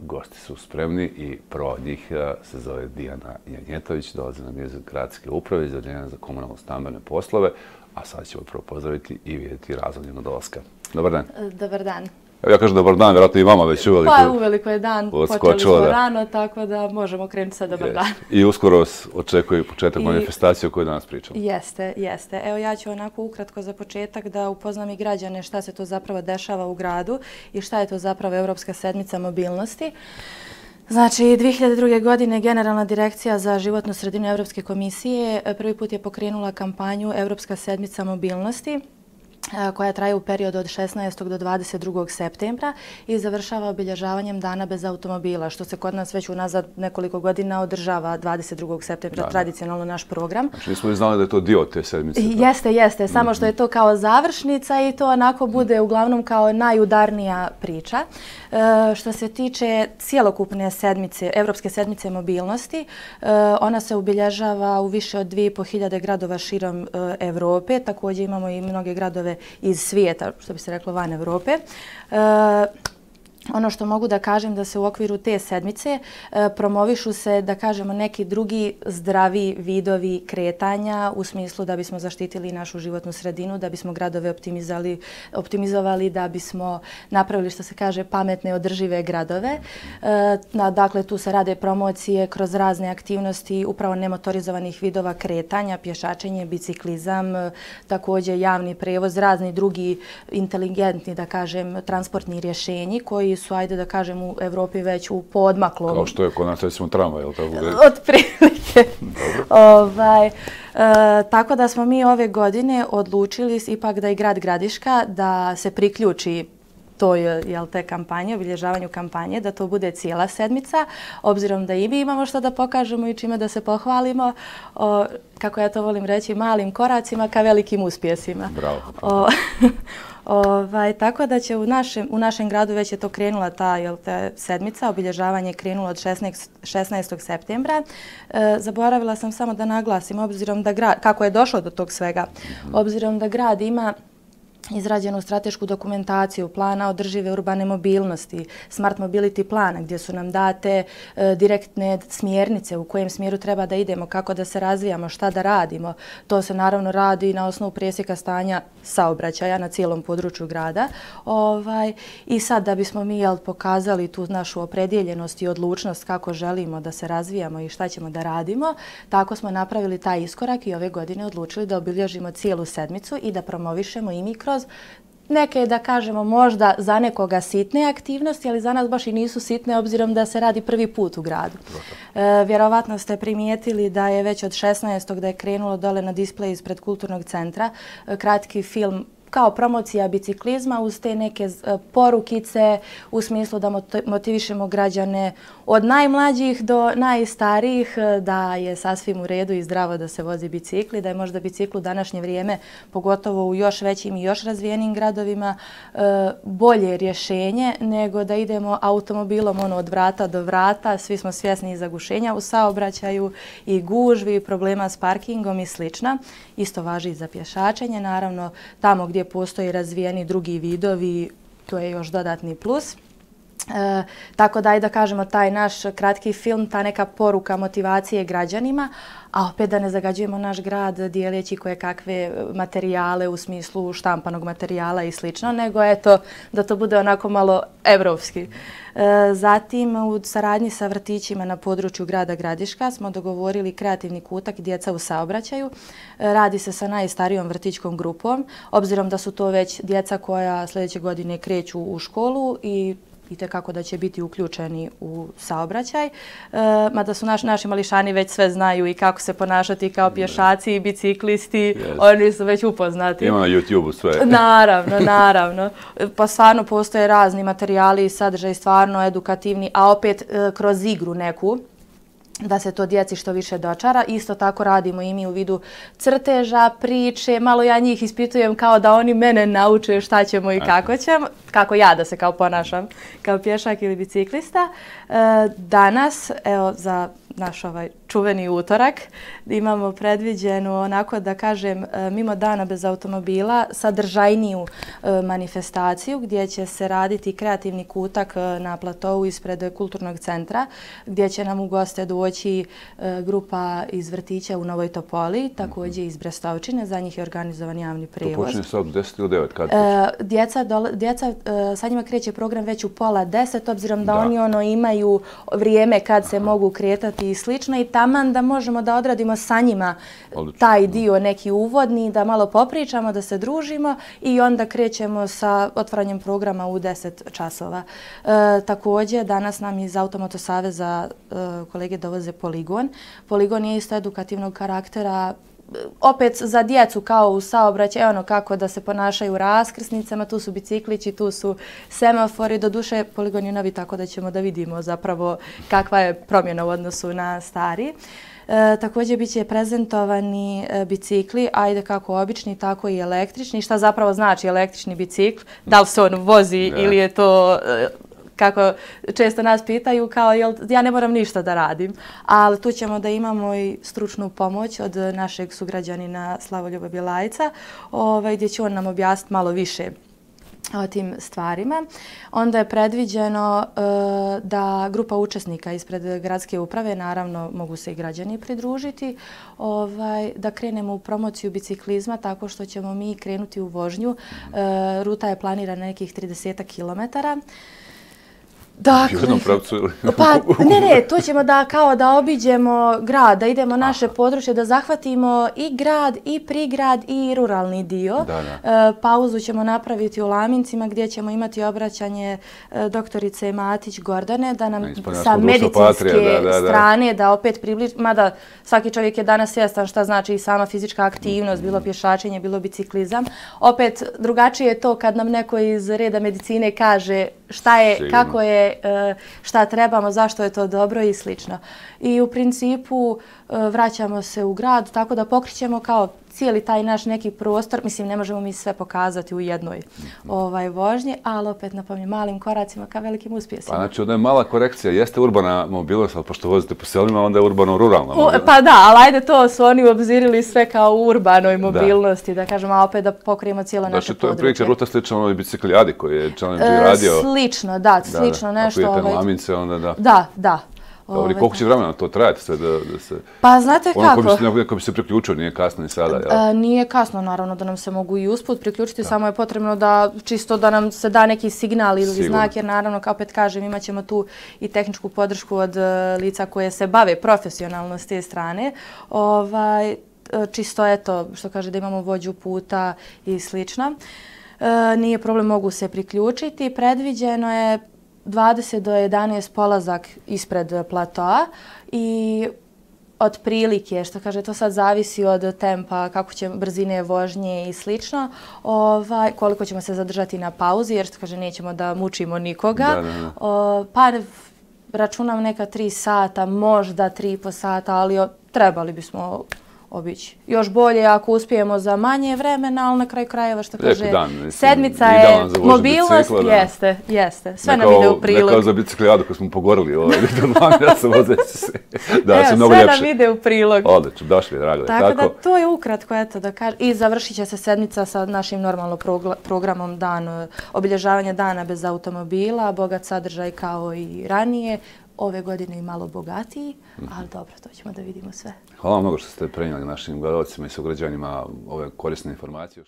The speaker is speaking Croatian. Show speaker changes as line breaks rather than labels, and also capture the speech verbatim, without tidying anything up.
Gosti su spremni i prva od njih se zove Dijana Janjetović, dolazi nam iz gradske uprave, iz Odeljenja za komunalno-stambene poslove, a sad ćemo prvo pozdraviti i vidjeti razlog njenog dolaska. Dobar dan.
Dobar dan.
Evo ja kažem dobar dan, vjerojatno i vama već uveliko.
Pa uveliko je dan, počeli smo rano, tako da možemo krenuti sa dobar dan.
I uskoro vas očekuje početak manifestacije o kojoj danas pričamo.
Jeste, jeste. Evo ja ću onako ukratko za početak da upoznam i građane šta se to zapravo dešava u gradu i šta je to zapravo Europska sedmica mobilnosti. Znači, dvije hiljade druge. godine Generalna direkcija za životnu sredinu Europske komisije prvi put je pokrenula kampanju Europska sedmica mobilnosti, koja traje u periodu od šesnaestog do dvadeset drugog septembra i završava obilježavanjem Dana bez automobila, što se kod nas već unazad nekoliko godina održava dvadeset drugog septembra, da, tradicionalno naš program.
Znači nismo li znali da je to dio te sedmice?
Jeste, jeste, mm-hmm. samo što je to kao završnica i to onako bude uglavnom kao najudarnija priča. E, što se tiče cjelokupne sedmice, Evropske sedmice mobilnosti, e, ona se obilježava u više od dvije i po hiljade gradova širom e, Evrope, također imamo i mnoge gradove iz svijeta, što bi se reklo van Evrope. E, ono što mogu da kažem da se u okviru te sedmice e, promovišu se, da kažemo, neki drugi zdravi vidovi kretanja u smislu da bismo zaštitili našu životnu sredinu, da bismo gradove optimizovali, da bismo napravili, što se kaže, pametne, održive gradove. E, na, dakle, tu se rade promocije kroz razne aktivnosti upravo nemotorizovanih vidova kretanja, pješačenje, biciklizam, e, također javni prevoz, razni drugi inteligentni, da kažem, transportni rješenji koji su, ajde da kažem, u Evropi već u poodmaklom.
Kao što je kod nas, recimo, tramvaj, je li tako?
Otprilike. ovaj, e, tako da smo mi ove godine odlučili ipak da i grad Gradiška da se priključi toj, jel, te kampanje, obilježavanju kampanje, da to bude cijela sedmica, obzirom da i mi imamo što da pokažemo i čime da se pohvalimo, o, kako ja to volim reći, malim koracima ka velikim uspjesima.
Bravo.
O, Ovaj, tako da će u našem, u našem gradu već je to krenula ta, jel, ta sedmica, obilježavanje je krenulo od šesnaestog septembra. E, zaboravila sam samo da naglasim, obzirom da grad, kako je došlo do tog svega, obzirom da grad ima izrađenu stratešku dokumentaciju plana održive urbane mobilnosti, Smart Mobility plana, gdje su nam date e, direktne smjernice u kojem smjeru treba da idemo, kako da se razvijamo, šta da radimo. To se naravno radi na osnovu presjeka stanja saobraćaja na cijelom području grada. Ovaj, I sad da bismo mi, jel, pokazali tu našu opredjeljenost i odlučnost kako želimo da se razvijamo i šta ćemo da radimo, tako smo napravili taj iskorak i ove godine odlučili da obilježimo cijelu sedmicu i da promovišemo i mi kroz neke, da kažemo, možda za nekoga sitne aktivnosti, ali za nas baš i nisu sitne, obzirom da se radi prvi put u gradu. E, vjerovatno ste primijetili da je već od šesnaestog da je krenulo dole na displej ispred kulturnog centra e, kratki film kao promocija biciklizma uz te neke porukice u smislu da motivišemo građane od najmlađih do najstarijih da je sasvim u redu i zdravo da se vozi bicikli, da je možda bicikl u današnje vrijeme, pogotovo u još većim i još razvijenim gradovima, bolje rješenje nego da idemo automobilom ono od vrata do vrata. Svi smo svjesni i zagušenja u saobraćaju i gužvi, problema s parkingom i slično. Isto važi i za pješačenje, naravno tamo gdje postoji razvijeni drugi vidovi, to je još dodatni plus. E, tako da, da kažemo, taj naš kratki film, ta neka poruka motivacije građanima, a opet da ne zagađujemo naš grad dijeleći koje kakve materijale u smislu štampanog materijala i slično, nego eto da to bude onako malo evropski. E, zatim, u saradnji sa vrtićima na području grada Gradiška smo dogovorili kreativni kutak djeca u saobraćaju. E, radi se sa najstarijom vrtićkom grupom, obzirom da su to već djeca koja sljedeće godine kreću u školu i i tekako da će biti uključeni u saobraćaj. E, mada su naš, naši mališani već sve znaju i kako se ponašati kao pješaci i biciklisti, yes. Oni su već upoznati.
Ima na YouTubeu sve.
Naravno, naravno. Pa stvarno postoje razni materijali i sadržaj stvarno edukativni, a opet e, kroz igru neku, da se to djeci što više dočara. Isto tako radimo i mi u vidu crteža, priče, malo ja njih ispitujem kao da oni mene nauče šta ćemo i kako ćemo, kako ja da se kao ponašam kao pješak ili biciklista. E, danas, evo za naš ovaj čuveni utorak. Imamo predviđenu, onako da kažem, mimo dana bez automobila, sadržajniju manifestaciju gdje će se raditi kreativni kutak na platovu ispred kulturnog centra, gdje će nam u goste doći grupa iz vrtića u Novoj Topoli, također iz Brestovčine, za njih je organizovan javni prijevoz.
To počinje sad u deset ili devet, kad
Djeca, djeca, sa njima kreće program već u pola deset, obzirom da, da oni ono imaju vrijeme kad se mogu kretati i slično i taman da možemo da odradimo sa njima Odlično. taj dio neki uvodni, da malo popričamo, da se družimo i onda krećemo sa otvaranjem programa u deset časova. E, također, danas nam iz Automoto Saveza e, kolege dovoze Poligon. Poligon je isto edukativnog karaktera, opet za djecu kao u saobraćaju, ono kako da se ponašaju u raskrsnicama, tu su biciklići, tu su semafori, doduše Poligon je novi tako da ćemo da vidimo zapravo kakva je promjena u odnosu na stari. E, također bit će prezentovani e, bicikli, ajde kako obični, tako i električni. Šta zapravo znači električni bicikl? Da li se on vozi yeah. ili je to... E, kako često nas pitaju, kao jel, ja ne moram ništa da radim, ali tu ćemo da imamo i stručnu pomoć od našeg sugrađanina Slavoljuba Bjelajca, ovaj, gdje će on nam objasniti malo više o tim stvarima. Onda je predviđeno e, da grupa učesnika ispred gradske uprave, naravno mogu se i građani pridružiti, ovaj, da krenemo u promociju biciklizma tako što ćemo mi krenuti u vožnju. E, ruta je planirana nekih trideset kilometara. Dakle, pa, ne, ne, to ćemo da kao da obiđemo grad, da idemo naše Aha. područje, da zahvatimo i grad, i prigrad, i ruralni dio. Da, da. E, pauzu ćemo napraviti u Lamincima gdje ćemo imati obraćanje e, doktorice Matić Gordane, da nam sa medicinske da, da, da. strane da opet približi, mada svaki čovjek je danas svjestan šta znači i sama fizička aktivnost, bilo pješačenje, bilo biciklizam. Opet drugačije je to kad nam neko iz reda medicine kaže šta je, Sigurno. kako je, šta trebamo, zašto je to dobro i slično. I u principu vraćamo se u grad, tako da pokrićemo kao cijeli taj naš neki prostor. Mislim, ne možemo mi sve pokazati u jednoj ovaj, vožnji, ali opet napominjem malim koracima ka velikim uspjesima.
Pa znači, onda je mala korekcija. Jeste urbana mobilnost, ali pošto vozite po selima, onda je urbano-ruralna mobilnost.
Pa da, ali ajde to su oni obzirili sve kao u urbanoj mobilnosti, da, da kažemo, a opet da pokrijemo cijelo znači, naše područje. Znači, to je prilike ruta slično onoj biciklijadi koji je Challenge e, radio. Slično, da, slično
da,
nešto.
Ako idete
ovaj...
na Lamince, onda da.
Da, da.
Dobro, koliko će vremena to trajati sve da, da se...
Pa znate ono kako?
Ono ko bi se priključio, nije kasno ni sada, jel?
E, nije kasno, naravno, da nam se mogu i usput priključiti, da. samo je potrebno da čisto da nam se da neki signal ili Sigurno. znak, jer naravno, kao opet kažem, imat ćemo tu i tehničku podršku od uh, lica koje se bave profesionalno s te strane. Ovaj, čisto eto, što kaže, da imamo vođu puta i slično. E, nije problem, mogu se priključiti. Predviđeno je dvadeset do jedanaest polazak ispred platoa i otprilike, što kaže, to sad zavisi od tempa, kako će brzine vožnje i slično, ovaj, koliko ćemo se zadržati na pauzi, jer što kaže, nećemo da mučimo nikoga. Da, da, da. O, pa računam neka tri sata, možda tri i po sata, ali o, trebali bismo obići. Još bolje ako uspijemo za manje vremena, ali na kraju krajeva što kaže, dan, mislim, sedmica je mobilnost, bicikla, jeste, jeste. Sve nam ide u prilog. Ne kao za biciklijadu koju smo pogorili, ovaj, da se vozeći se, da Evo, se mnogo ljepše. Sve nam ide u prilog. Odlično, došli, drago. Tako, tako da to je ukratko, eto da kažem. I završit će se sedmica sa našim normalnom programom dan, obilježavanja dana bez automobila, bogat sadržaj kao i ranije. Ove godine i malo bogatiji, ali dobro, to ćemo da vidimo sve.
Hvala vam mnogo što ste prenijeli našim gledalcima i sugrađanima ove korisne informacije.